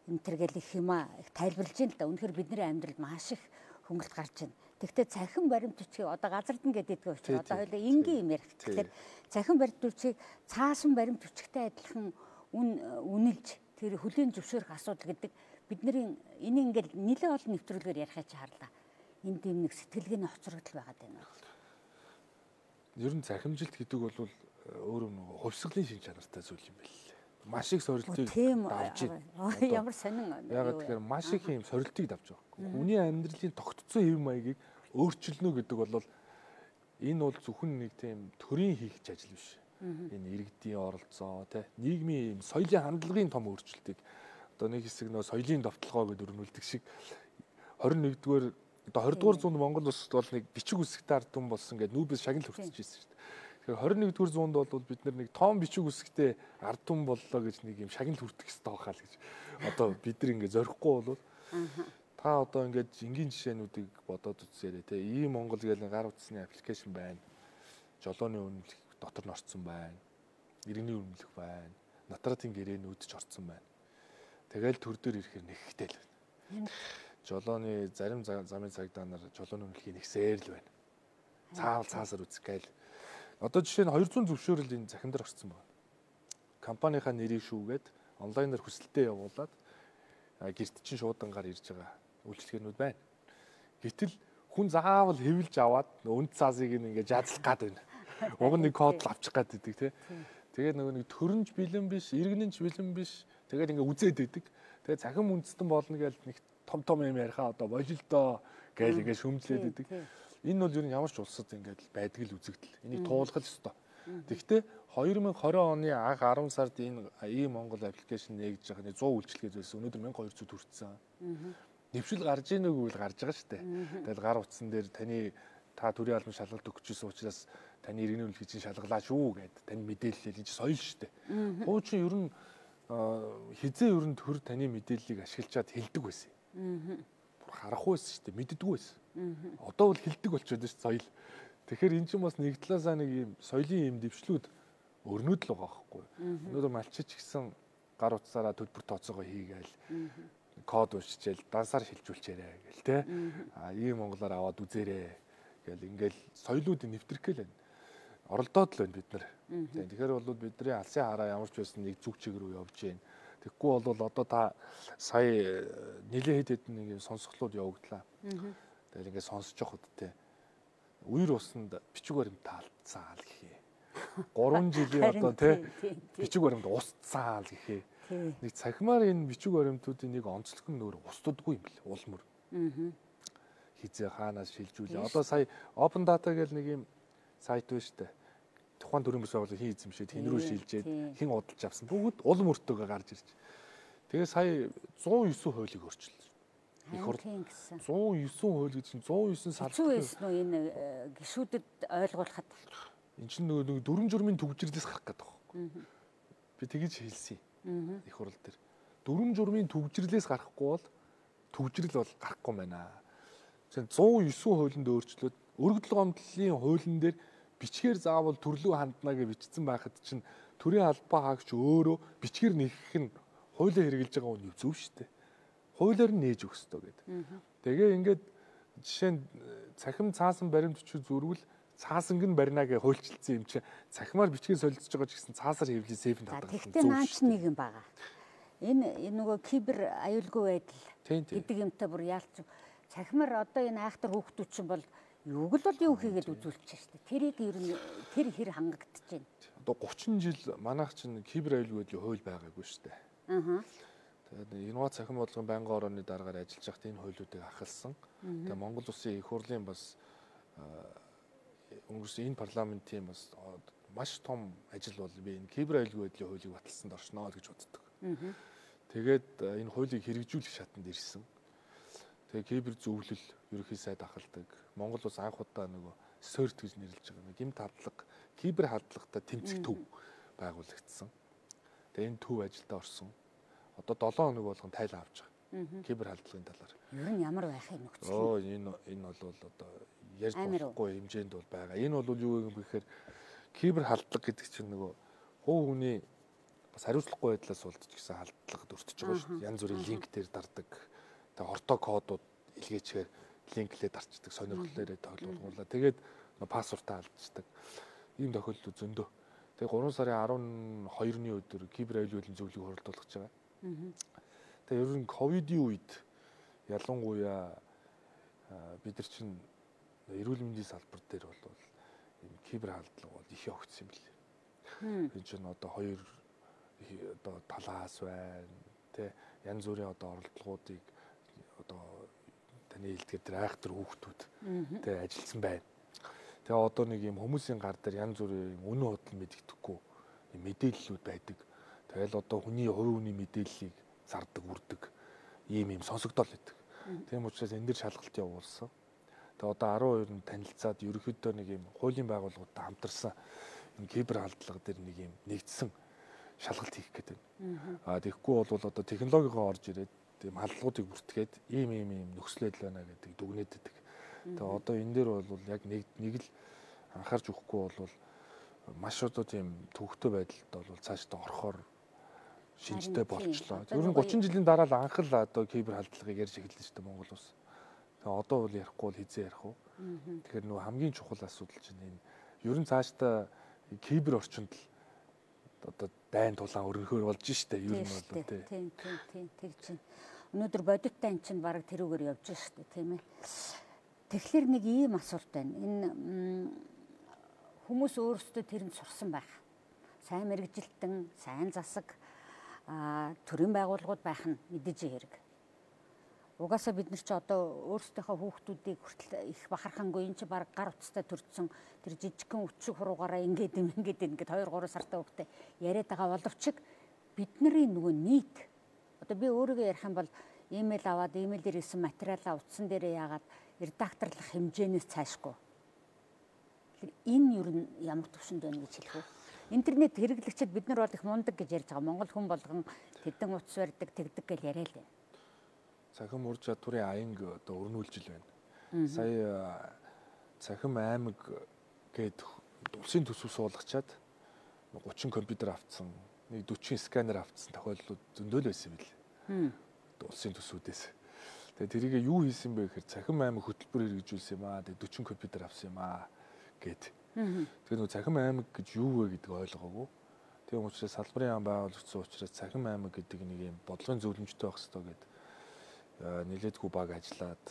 энэ төргээл их юма их тайлбарлаж байна л да. Үнэхээр бидний амьдралд маш их хөнгөлт гарч байна. Тэгвэл цахим баримт бичгийг одоо газардна гэдэг учраас одоо хоёул энгийн юм ярих. Тэгэхээр цахим баримт бичгийг цаасан баримт бичгтэй адилхан үнэлж тэр хөлийн зөвшөөрөх асуудал гэдэг бидний энэ ингээл нэлээд олон нэвтрүүлгээр ярихыг харлаа. Энд юм нэг сэтгэлгээний хоцрогдол байгаад байна. Ер нь захимжилт гэдэг бол өөрөө нэг хувьсгалын шин чанартай зүйл юм байл. Маш их сорилтыг давж байна. Ямар сонин. Ягаад тэгэхээр маш их юм сорилтыг давж байгаа. Хүний амьдралын тогтцсон хэв маягийг өөрчилнө гэдэг бол энэ бол зөвхөн нэг тийм төрийн хийх ажил биш. Энэ иргэдийн оролцоо, нийгмийн юм соёлын хандлагын том өөрчлөлтийг одоо нэг хэсэг нөө соёлын довтлогоо гэдэг өрнүүлдэг шиг 21-р одоо 20-р зуунд Монгол улсад бол нэг бичиг үсэгтэй ард түмэн болсон гэдэг нүүбээс шагнал хүртэж ирсэн шүү дээ. Тэгэхээр 21-р зуунд бол бид нар нэг том бичиг үсэгтэй ард түмэн боллоо гэж нэг юм шагнал хүртэх хэрэгтэй байхаа л гэж одоо бид нар ингэ зорихгүй болвол та одоо ингээд энгийн жишээнүүдийг бодоод үзээрэй те. Ийм Монгол гэдэг гар утасны аппликейшн байна. Жолооны үнэлэх дотор нь орцсон байна. Иргэний үнэлэх байна. Натратын гэрээнүүд ч орцсон байна. Тэгэл төр дээр ирэхээр нэгхтэй л байна. Жолооны зарим замын цагдаа нар жолооны үнэлэхийг нэгсээр л байна. Цаасаар үзэх гээл. Одоо жишээ нь 200 зөвшөөрөл энэ захин дээр орцсон байна. Компанийнхаа нэрийг шүүгээд онлайнаар хүсэлтээ явуулаад гэрт чинь шуудангаар ирж байгаа үйлчлэгээнүүд байна. Гэтэл хүн заавал хэвлж аваад үнд цаасыг ингээ жаадлах гад байна. Уг нь нэг код л авчих гад байдаг тий. Тэгээд нөгөө нэг төрөнж бэлэн биш, иргэнэнч бэлэн биш. Тэгээд ингээ үзээд байдаг. Тэгээд цахим үндэстэн болно гэж нэг том юм яриахаа одоо божилдоо гээл ингээ шөмжлээд байдаг. Энэ бол ер нь ямар ч улсад ингээд байдаг л үзэгдэл. Энийг туулах ёстой. Тэгэхдээ 2020 оны анх 10 сард энэ Монгол аппликейшн нээгдэж байгаа 100 үйлчлэгээ байсан. Өнөөдөр 1200 хүрсэн. Нэвшил гарч ийн үгүй л гарч байгаа шүү дээ. Тэгэл гар утсан дээр та төрийн албан шалгалт өгчөөсөн учраас таны иргэний үлгийчийн шалгалаа шүү гэд тань мэдээлэл энэ соёл шүү дээ. Хуучин ер нь хизээ ер нь төр таны мэдээллийг ашиглачаад хэлдэг байсан. Харахгүй байсан шүү дээ. Мэддэггүй байсан. Одоо бол хэлдэг болчиход шүү соёл. Тэгэхээр эн чинь бас нэг талаасаа нэг юм соёлын юм дэвшлүүд өрнөд л байгаа байхгүй. Өнөөдөр малчич гисэн гар утсаараа төлбөр тооцоогоо хийгээл код уншичээл дансаар шилжүүлчээрэй гэл те. Ийм монголоор аваад үзээрэй гэл ингээл соёлуудыг нэвтрэх гээл байна. Оролдоод л байна бид нар. Тэгэхээр бол бидний алсын хараа ямар ч байсан нэг зүг чиг рүү явж байна. Тэгэхгүй бол одоо та сая нэлээд хэд хэдэн нэг юм сонсголууд явагдлаа. Тэгэхээр ингээд сонсож явахд те. Үер усанд бичиг баримт таалцсан л гэхээ. 3 жилийн одоо те бичиг баримт устсан л гэхээ. Нэг цахимаар энэ бичиг баримтуудын нэг онцлог нь нөр устдаггүй юм бэл улмөр. Хизээ хаанаас шилжүүлээ. Одоо сая open data гэл нэг юм сайт байна шүү дээ. Тухайн төрийн бас байгууллага хин эзэмшээд хин рүү шилжээд хин удалж авсан. Бүгд улам өртөөгөө гарч ирж. Тэгээ сая 109 хуулийг өөрчилсөн. Их хурд 109 хууль гэж чинь 109 салбар байсан уу энэ гишүүдэд ойлгуулахад эн чинь нөгөө дүрм журмын төгжрлээс гарах гэдэг байна. Би тэгэж хэлсэн. Их хурл дээр дүрм журмын төгжрлээс гарахгүй бол төгжрөл бол гарахгүй байна. Тэгэхээр 109 хуулинд өөрчлөөд өргөдөл гомдлын хуулийн дээр бичгээр заавал төрлөө хандна гэж бичсэн байхад чинь төрийн албаа хаагч өөрөө бичгээр нэхэх нь хуулиар хэрэгжилж байгаа үн зөв шүү дээ. Хуулиар нь нээж өгөх ёстой гэдэг. Тэгээ ингээд жишээ нь цахим цаасан баримт өчиг зүргэл цаасанг нь барина гэж хуульчилсан юм чи цахимаар бичгээр солилцож байгаа ч гэсэн цаасаар хэвлээ сейф татах. Тэгтээ наач нэг юм байгаа. Энэ нөгөө кибер аюулгүй байдал гэдэг юмтай бүр яалч цахимаар одоо энэ айхтар хүүхдүүд чинь бол юуг л бол юу хийгээд үзүүлчих шүү дээ. Тэрийг ер нь тэр хэр хангагдаж байна. Одоо 30 жил манайх чинь кибер аюулгүй байдлын хууль байгаагүй шүү дээ. Тэгээд инновац цахим бодлогын байнгын орооны дараагаар ажиллаж байхдаа энэ хуулиудыг ахалсан. Тэгээд Монгол Улсын их хурлын бас өнгөрсөн энэ парламентийн бас маш том ажил бол би энэ кибер аюулгүй байдлын хуулийг баталсанд оршноо гэж боддог. Тэгээд энэ хуулийг хэрэгжүүлэх шатанд ирсэн. Тэгээ кибер зөвлөл ерөнхий сайд ахалдаг. Монгол улс анх удаа нөгөө СОРТ гэж нэрлэж байгаа нэг гэмт хадлага, кибер хадлагатай тэмцэх төв байгуулагдсан. Тэгээ энэ төв ажилдаа орсон. Одоо 7 хоног болгон тайлан авч байгаа. Кибер хадлагын талаар. Ер нь ямар байхыг нөхцөл. Энэ бол одоо ярьж болохгүй хэмжээнд бол байгаа. Энэ бол юу юм бэ гэхээр кибер халдлага гэдэг чинь нөгөө хувь хүний бас хариуцлагагүй байдлаас болдож гисэн халдлагад өртөж байгаа шүү дээ. Янз бүрийн линк дээр дардаг. Тэгээ хортой кодууд илгээчээр линклээ дарчдаг, сонирхлоороо тоглуулгуулаа. Тэгээд пассвортаа алдчихдаг. Ийм тохиолдол зөндөө. Тэгээ 3 сарын 12-ны өдөр кибер аюулгүй зөвлөлийг хуралдуулах гэж байгаа. Тэгээ ер нь ковидын үед ялангуяа бид нар чинь эрүүл мэндийн салбар дээр бол ийм кибер халдлага бол их явагдсан юм билээ. Энэ чинь одоо хоёр одоо талаас байна. Тэ янз бүрийн одоо оролдлогоодыг одоо таны хэлдгээр тэр айхтар хүүхдүүд тэ ажилласан байна. Тэгээ одоо нэг юм хүмүүсийн гар дээр янз бүрийн үнэн худал мэддэхгүй мэдээллүүд байдаг. Тэгэл одоо хүний хувь хүний мэдээллийг зардаг, үрдэг ийм сонсогдол байдаг. Тийм учраас энэ дэр шалгалт явуулсан. Тэгээ одоо 12-нд танилцаад ерөнхийдөө нэг юм хуулийн байгууллагуудтай хамтарсан энэ кибер халдлага дээр нэг юм нэгдсэн шалгалт хийх гэдэг. Тэгэхгүй бол одоо технологиогоо орж ирээд тийм халдлагуудыг бүртгээд ийм нөхцөл байдал байна гэдэг дүгнээд байдаг. Тэгээ одоо энэ дээр бол яг нэг л анхаарч өгөхгүй бол маш одоо тийм төвөгтэй байдалд бол цаашдаа орохоор шинжтэй болчлоо. Ер нь 30 жилийн дараа л анх л одоо кибер халдлагыг ярьж эхэлсэн шүү дээ Монгол улс. Тэгээ одоо бол ярихгүй бол хизээ ярих уу? Тэгэхээр нөгөө хамгийн чухал асуудал чинь энэ ер нь цаашдаа кибер орчинд л одоо дайн тулаан өргөхөр болж штэ ер нь бол тийм тэгж чинь өнөөдөр бодиттай эн чинь баг тэрүүгээр явж штэ тийм ээ. Тэгэхээр нэг ийм асуулт байна. Энэ хүмүүс өөрсдөө тэрэнд сурсан байх. Сайн мэрэгжилтэн, сайн засаг, төрийн байгууллагууд байх нь мэдээж хэрэг. Угаасаа бид нар ч одоо өөрсдийнхөө хүүхдүүдийг хүртэл их бахархангүй энэ чи баг гар утастай төрсөн тэр жижигхэн өчиг хуруугаараа ингээд 2 3 сартай хүүхдээ яриад байгаа боловч бидний нөгөө нийт одоо би өөрийгөө ярих юм бол имэйл аваад имэйлээр ирсэн материалаа утсан дээрээ яагаад редакторлох хэмжээнээс цаашгүй. Энэ юу ямар төвшөнд байна гэж хэлэх үү? Интернет хэрэглэгчид бид нар бол их мундаг гэж ярьж байгаа. Монгол хүн болгон тэдэн утас барьдаг, тэгдэг гэж яриа л байна. Цахим ур чадварын аянг одоо өрнүүлжил байна. Сая цахим аймаг гээд улсын төсөв суулгачаад 30 компьютер авцсан, нэг 40 сканер авцсан тохиолдлууд зөндөл байсан юм бэл. Улсын төсвүүдээс. Тэгээ тэрийг юу хийсэн бэ гэхээр цахим аймаг хөтөлбөр хэрэгжүүлсэн юм аа. Тэгээ 40 компьютер авсан юм аа гээд. Тэгээ нөгөө цахим аймаг гэж юу вэ гэдгийг ойлгоогүй. Тэгээ учраас салбарын яам байгуулагдсан учраас цахим аймаг гэдэг нэг юм бодлогын зөвлөмжтэй байх хэрэгтэй гэдэг нэлээдгүй баг ажиллаад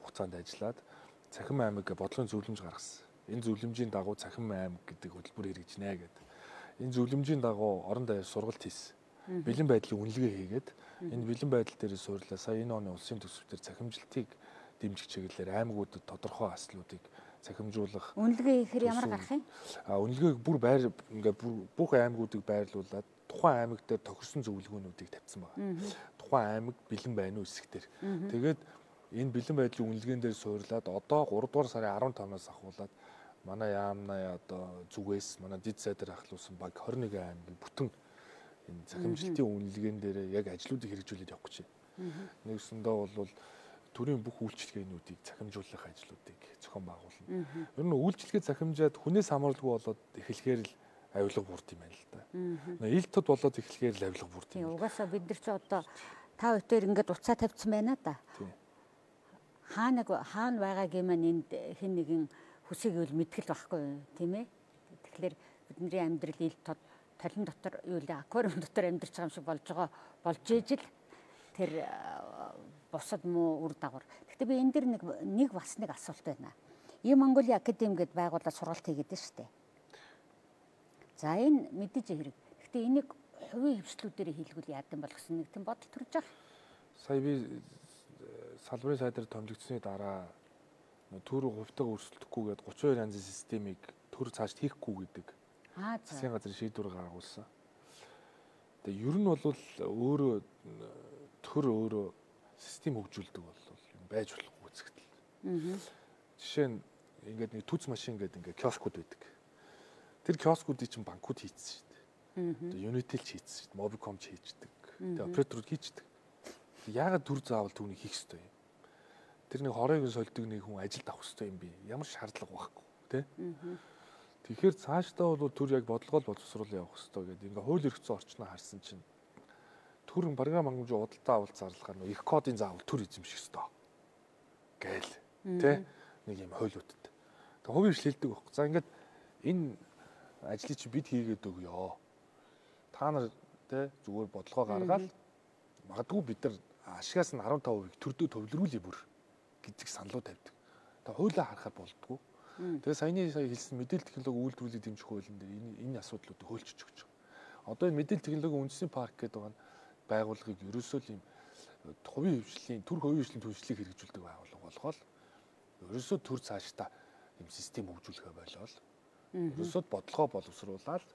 хугацаанд ажиллаад цахим аймаг бодлогын зөвлөмж гаргасан. Энэ зөвлөмжийн дагуу цахим аймаг гэдэг хөтөлбөр хэрэгжинэ гэдэг. Энэ зөвлөмжийн дагуу орон даяар сургалт хийсэн. Бэлэн байдлын үнэлгээ хийгээд энэ бэлэн байдал дээр суйрлаа. Сая энэ оны улсын төсвөөр цахимжилтыг дэмжих чиглэлээр аймагуудад тодорхой аслуудыг цахимжуулах. Үнэлгээ хийхээр ямар гарах юм? Үнэлгээг бүр ингээ бүх аймагуудыг байрлуулад тухайн аймаг дээр тохирсон зөвлөгөөнүүдийг тавьсан байна. Тухайн аймаг бэлэн байна уу хэсгээр. Тэгээд энэ бэлэн байдлын үнэлгээнд дээр суйрлаад одоо 3 дугаар сарын 15-наас ахуулаад манай яамнаа одоо зүгээс манай дид сайдаар ахлуулсан баг 21 аймгийн бүтэн энэ цахимжилтын үнэлгээнд дээр яг ажлуудыг хэрэгжүүлээд явах гэж байна. Нэгсэндээ бол төрийн бүх үйлчилгээнүүдийг цахимжуулах ажлуудыг зохион байгуулна. Ер нь үйлчилгээ цахимжаад хүнээс хамааралгүй болоод эхлэхээр л авилга бүрд юм байна л да. Ил тод болоод эхлэхээр л авилга бүрд юм. Угаасаа бид нар ч одоо та бүхэн ингээд уцаа тавьсан байна да. Хаана байгааг юм энд хэн нэгэн хүсийг үл мэдгэл байхгүй тийм ээ. Тэгэхээр бидний амьдрал ил тод талин дотор юу л аквариум дотор амьдарч байгаа юм шиг болж ижил тэр бусад муу үр дагавар. Гэхдээ би энэ дэр нэг бас нэг асуулт байна. Ийм Монголын академи гэдээ байгуулаад сургалт хийгээд шүү дээ. За энэ мэдээж хэрэг. Гэхдээ энийг хувийн хвшлүүдээр хийлгүүл яадан бол гэсэн нэг тийм бодол төрж байгаа. Сая би салбарын сайдаар томилогдсны дараа төр хувьтайгаа өрсөлдөхгүй гээд 32 янзын системийг төр цааш хийхгүй гэдэг засгийн газрын шийдвэр гаргуулсан. Тэгээ ер нь бол өөрөө төр өөрөө систем хөгжүүлдэг бол байж болохгүй үзэгдэл. Жишээ нь ингээд нэг түц машин гэдэг ингээд киоскууд байдаг. Тэр киоскуудыг чинь банкуд хийцсэн шүү дээ. Тэгээ Unitel ч хийцсэн шүү дээ. Mobicom ч хийждэг. Тэгээ операторууд хийждэг. Яагаад төр заавал түүнийг хийх ёстой юм? Тэр нэг хорыг сольдог нэг хүн ажилд авах ёстой юм би. Ямар шаардлага байхгүй тий? Тэгэхээр цаашдаа бол төр яг бодлогоо боловсруулах явах ёстой гэдэг. Ингээ хууль эрх зүйн орчноо харсан чинь төр програм хангамжийн худалдаа авалт зарлахаар нэг их кодын заавал төр эзэмших ёстой. Гээл тий? Нэг юм хуулиудад. Тэгээ хувийн хвшлэлдэг байхгүй. За ингээд энэ ажлыг чи бид хийгээд өгөө. Та нар тий зүгээр бодлогоо гаргаад магадгүй бид нар ашигаас нь 15%-ийг төрдөө төвлөрүүлээ бүр гэдэг саналуу тавьдаг. Тэгээ хуулиа харахаар болдгоо. Тэгээ сая хэлсэн мэдээлэл технологи үйлдвэрлэлийг дэмжих хуулийн дээр энэ асуудлуудыг хөөлчөж өгч байгаа. Одоо энэ мэдээлэл технологийн үндэсний парк гэдэг байгаа байгууллагыг ерөөсөө л юм хувийн хвшлийн төр хувийн хвшлийн төлөвшлийг хэрэгжүүлдэг байгууллага болгоод ерөөсөө төр цаашдаа юм систем хөгжүүлэхэ болоод ерөөсөө бодлогоо боловсруулаад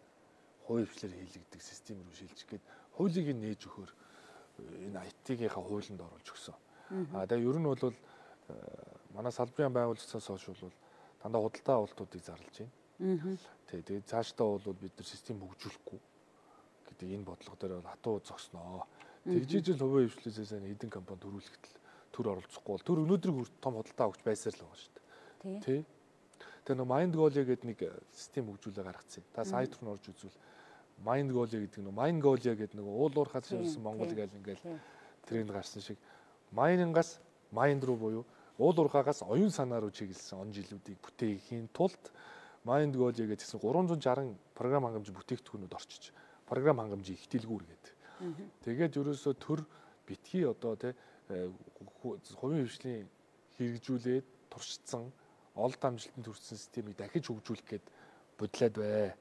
хувийн хвшлэр хийлэгдэх систем рүү шилжих гээд хуулийг нээж өгөхөөр энэ IT-гийнхаа хуулинд оруулж өгсөн. Тэгээ ер нь бол манай салбарын байгууллагаас хойш бол дандаа худалдаа авалтуудыг зарлж байна. Тэгээд цаашдаа бол бид нар систем хөгжүүлэхгүй гэдэг энэ бодлого дээр бол хатуу зогсноо. Тэгжижил хувийн хвшлээсээс хэдэн компани төрүүлэхдээ төр оролцохгүй бол төр өнөөдрийг хүртэл том худалдаа авч байсаар л байгаа шүү дээ. Тий. Тэгээ нөө MindGoal гэдэг нэг систем хөгжүүлээ гаргацсан. Та сайт руу орж үзвэл MindGoal гэдэг нөө MindGoal гэдэг нэг уул уурхаас ирсэн Монгол гээл ингээл тренд гарсан шиг Mind-аас Mind руу буюу уул уурхаагаас оюун санаа руу чиглэсэн он жилүүдийг бүтээхийн тулд MindGoal гэдэг гэсэн 360 програм хангамж бүтээгдэхүүнүүд орчиж програм хангамжийг ихтэлгүүр гэдэг. Тэгээд ерөөсөө төр битгий одоо тий хувийн хвшлийн хэрэгжүүлээд туршицсан олд амжилтанд хүрсэн системийг дахиж хөгжүүлэх гээд бодлоод бай.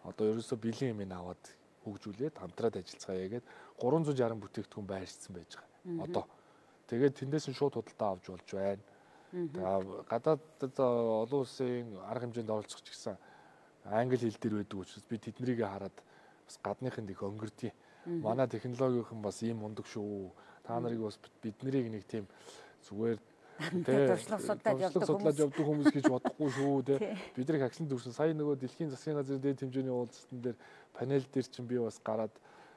Одоо ерөөсөө бэлэн юм аваад хөгжүүлээд хамтраад ажиллацгаая гээд 360 бүтээгдэхүүн байршсан байж байгаа. Одоо тэгээд тэндээс нь шууд худалдаа авч болж байна. Тэгээд гадаад олон улсын арга хэмжээнд оролцох ч гэсэн англи хэл дээр байдаг учраас би тэднийг хараад бас гадныхынд их өнгөрдөг. Манай технологийн бас ийм мундаг шүү. Та нарыг бас бид нарыг нэг тийм зүгээр судлаад явдаг хүмүүс гэж бодохгүй шүү те. Бидний агсан дүүрсэн сая нөгөө дэлхийн засгийн газрын дээд хэмжээний уулзалтан дээр панел дээр чинь би бас гараад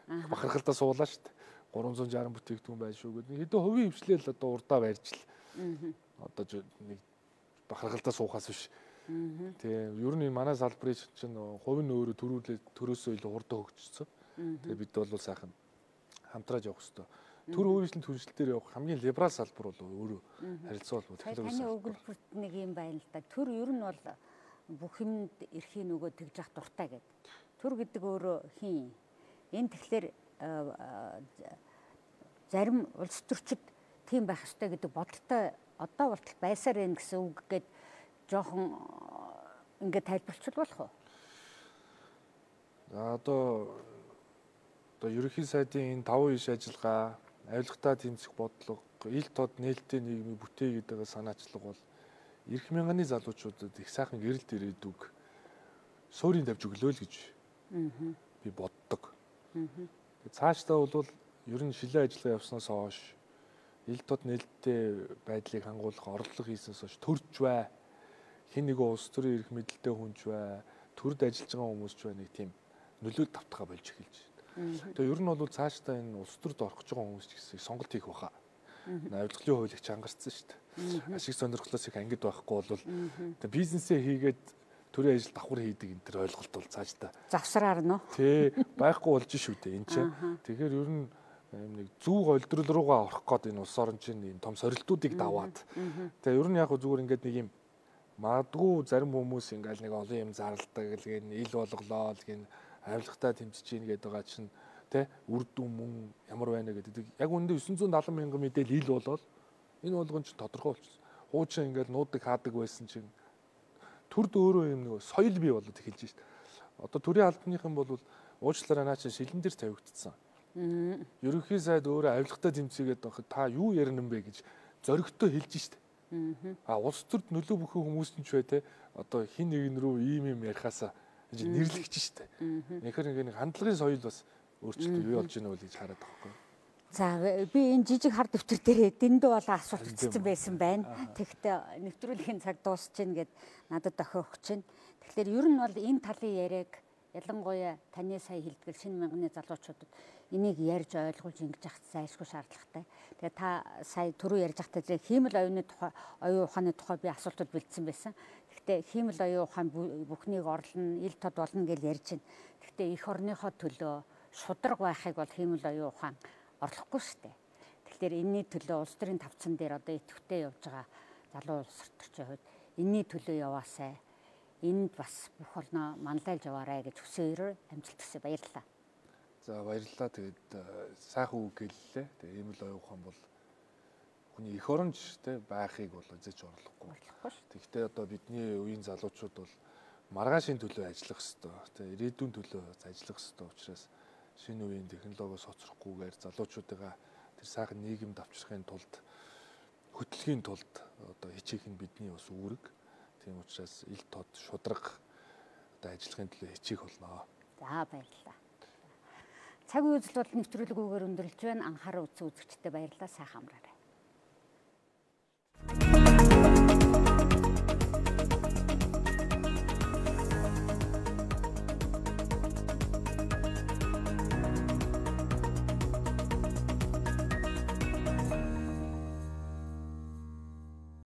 бахархалдаа суулаа шүү дээ. 360 бүтээгдэхүүн байна шүү гэдэг. Хэдэн хувийн хвшлэл одоо урдаа барьж л. Одоо нэг бахархалдаа суухаас биш. Тэгээ ер нь манай салбарын чинь хувийн өөрөө төрөөсөө илүү хурдан хөгжсөн. Тэгээ бид бол сайхан хамтрааж явах хэрэгтэй. Төр өөрчлөлт хүншлэлээр явах хамгийн либерал салбар бол өөрөө харилцаа бол технологи. Таны өгүүлбэрт нэг юм байна л да. Төр ер нь бол бүх юмд эрхийн нөгөө тэгж явах дуртай гэдэг. Төр гэдэг өөрөө хин. Энэ тэгэхээр зарим улс төрчид тийм байх ёстой гэдэг бодолтой одоо болтол байсаар байна гэсэн үг гээд жоохон ингээд тайлбарчил болох уу? Одоо ерөнхий сайдын энэ 5 иш ажиллагаа, авилгатаа тэмцэх бодлого, ил тод нээлттэй нийгмийг бүтээгээд байгаа санаачлага бол эрх мянганы залуучуудад их сайхан гэрэлт ирээдүг суурийн тавьж өглөө л гэж би боддог. Цаашдаа бол ер нь шилэн ажиллагаа явснаас хойш ил тод нээлттэй байдлыг хангуулах орлого хийснээс хойш төрж бай. Хин нэг улс төрийн эрх мэдэлтэй хүнч бай. Төрд ажиллаж байгаа хүмүүс ч бай нэг тийм нөлөөлөлт тавтахаа болж эхэлж байна. Тэгээ ер нь бол цаашдаа энэ улс төрд орох гэж байгаа хүмүүс ч гэсэн сонголт хийх баха. Авилгалын хуулийг чангарсан шүү дээ. Ашиг сонирхлоос их ангид байхгүй бол тэгээ бизнесээ хийгээд төрийн ажил давхар хийдэг энэ төр ойлголт бол цаашдаа завсраар нь тий байхгүй болж шүү дээ энэ чинь. Тэгэхээр ер нь нэг зүг ойлдрол руугаа орох гээд энэ улс орон чинь энэ том сорилтуудыг даваад тэгээ ер нь яг зүгээр ингээд нэг юм магадгүй зарим хүмүүс ингээл нэг олон юм зарладаг л гэн ил болголоо л гэн авилгатаа тэмцэж ийн гэдэг байгаа чинь тий үр дүн мөн ямар байна гэдэг яг үндэ 970 мянган мэдээл ил болол энэ болгон чинь тодорхой болчихсон. Хуучин ингээл нуудаг хаадаг байсан чинь төрд өөрөө юм нэг соёл бий болоод эхэлж шít. Одоо төрийн албаныхан бол уучлаарай наа чинь шилэн дээр тавигдсан. Ерөнхий сайд өөрөө авилгатаа тэмцээгээд байхад та юу ярина бэ гэж зоригтой хэлж шít. Улс төрд нөлөө бүхэн хүмүүс нь ч бай те одоо хин нэгэн рүү ийм ярихаасаа нэрлэгч штэ. Тэгэхээр нэг хандлагын соёл бас өөрчлөлт бий болж байна үл гэж хараад байгаа байхгүй. За би энэ жижиг хар дэвтэр дээр дэндүү болон асуулт өгсөн байсан байна. Тэгэхдээ нэвтрүүлгийн цаг дуусч гин гэд надад охиох гэж байна. Тэгэхээр ер нь бол энэ талын яриаг ялангуяа таны сая хэлдгэл шинэ мянганы залуучуудад энийг ярьж ойлгуулж ингэж явах зайлшгүй шаардлагатай. Тэгээ та сая түрүү ярьж байхдаа хиймэл оюуны тухай, оюун ухааны тухай би асуултууд бэлдсэн байсан. Гэхдээ хиймэл оюун ухаан бүхнийг орлоно, ил тод болно гэж ярьж байна. Гэхдээ эх орныхоо төлөө шудраг байхыг бол хиймэл оюун ухаан орлохгүй шүү дээ. Тэгэхээр энэний төлөө улс төрийн тавцан дээр одоо идэвхтэй явж байгаа залуу улс төрчийн хувьд энэний төлөө яваасай. Энд бас бүх орноо манлайлж яваарай гэж хүсээрээ амжилт хүсье. Баярлалаа. За баярлалаа. Тэгээд сайхан үг гэллээ. Тэгээд ийм л оюун ухаан бол хүний эх оронч те байхыг бол эзэж орлохгүй. Тэгэхдээ одоо бидний үеийн залуучууд бол маргаашийн төлөө ажиллах ёстой. Тэ ирээдүйн төлөө ажиллах ёстой учраас шинэ үеийн технологиос хоцрохгүйгээр залуучуудаа тэр сайхан нийгэмд авчрахын тулд хөтлөхийн тулд одоо хичээх нь бидний бас үүрэг. Тийм учраас ил тод шудраг одоо ажиллахын төлөө хичээх болно. За баярлалаа. Цаг үе үзэл бол нэвтрүүлгүүгээр өндөрлж байна. Анхаарал үзэгчдэд баярлалаа. Сайхан амраарай.